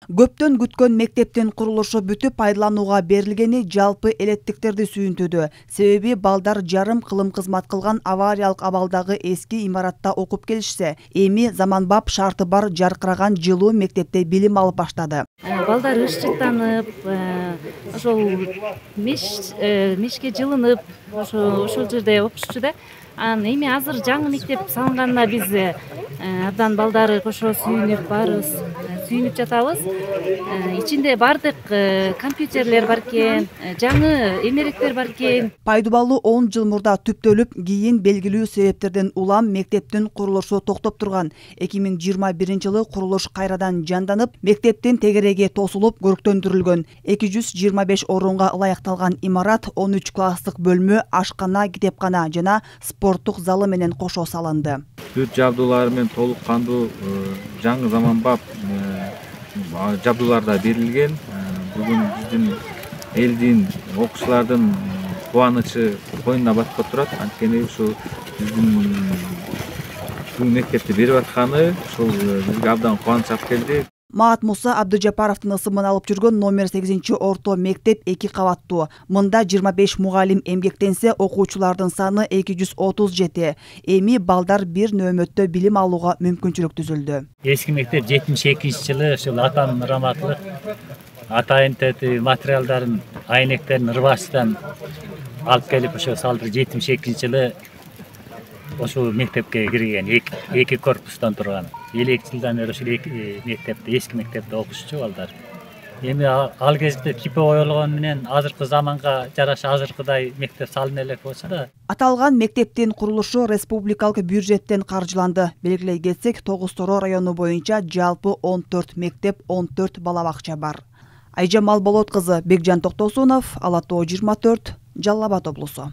Көптөн күткөн мектептин курулушу бүтүп пайдаланууга берилгени жалпы элеттиктерди сүйүнтүүдө. Себеби балдар жарым кылым кызмат кылган авариялык абалдагы эски имаратта окуп келишсе, эми заманбап шарты бар жаркыраган жылуу мектепте билим алып баштады. Балдар ышчыктанып, ошол мешке жылынып, ошол жерде окушчу да. Эми азыр жаңы мектеп салынганына биз абдан балдары ошо сүйүнүп барыбыз, сүйүнүп жатабыз. Ичинде бардык компьютерлер бар экен, жаңы эмеректер бар экен. Пайдубалы 10 жыл мурда түптөлүп, кийин белгилүү себептерден улам мектептин курулушу токтоп турган. 2021-жылы курулуш кайрадан жанданып, мектептин тегереги тосулуп, көрктөндүрүлгөн. 225 орунга ылайыкталган имарат 13 класстык бөлмө, ашкана, китепкана жана спорттук залы менен кошо салынды. Бүт жабдуулары менен толук кандуу жаңы заманбап жабдууларда берилген. Бүгүн биздин элдин, окуучулардын кубанычы коюнуна батпай турат. Анткени ушу биздин бул мектепти берип атканы ушул бизге абдан кубаныч алып келди. Маат Муса Абдыжапаровдун ысымын алып жүргөн номер 8-орто мектеп 2 кабаттуу. Мында 25 мугалим эмгектенсе, окуучулардын саны 237. Эми балдар бир нөөмөттө билим алууга мүмкүнчүлүк түзүлдү. Эски мектеп 72-жылы ушул атанын ыраматтылык атайын материалдарын, айнектерин Ырбашыдан алып келип ошо салдыр. 72-жылы ошол мектепке кирген, эки корпустан турган. 50 жылдан бери ушул мектепте, эски мектепте окушчу балдар. Эми ал кезде типи оюлгон менен азыркы заманга жараша азыркыдай мектеп салына элек болсо да. Аталган мектептин курулушу республикалык бюджеттен каржыланды. Белгилей кетсек, Тогуз-Тороо району боюнча жалпы 14 мектеп, 14 бала бакча бар. Айжамал Болот кызы, Бекжан Токтосунов, Ала Тоо 24, Жалал Абад облусу.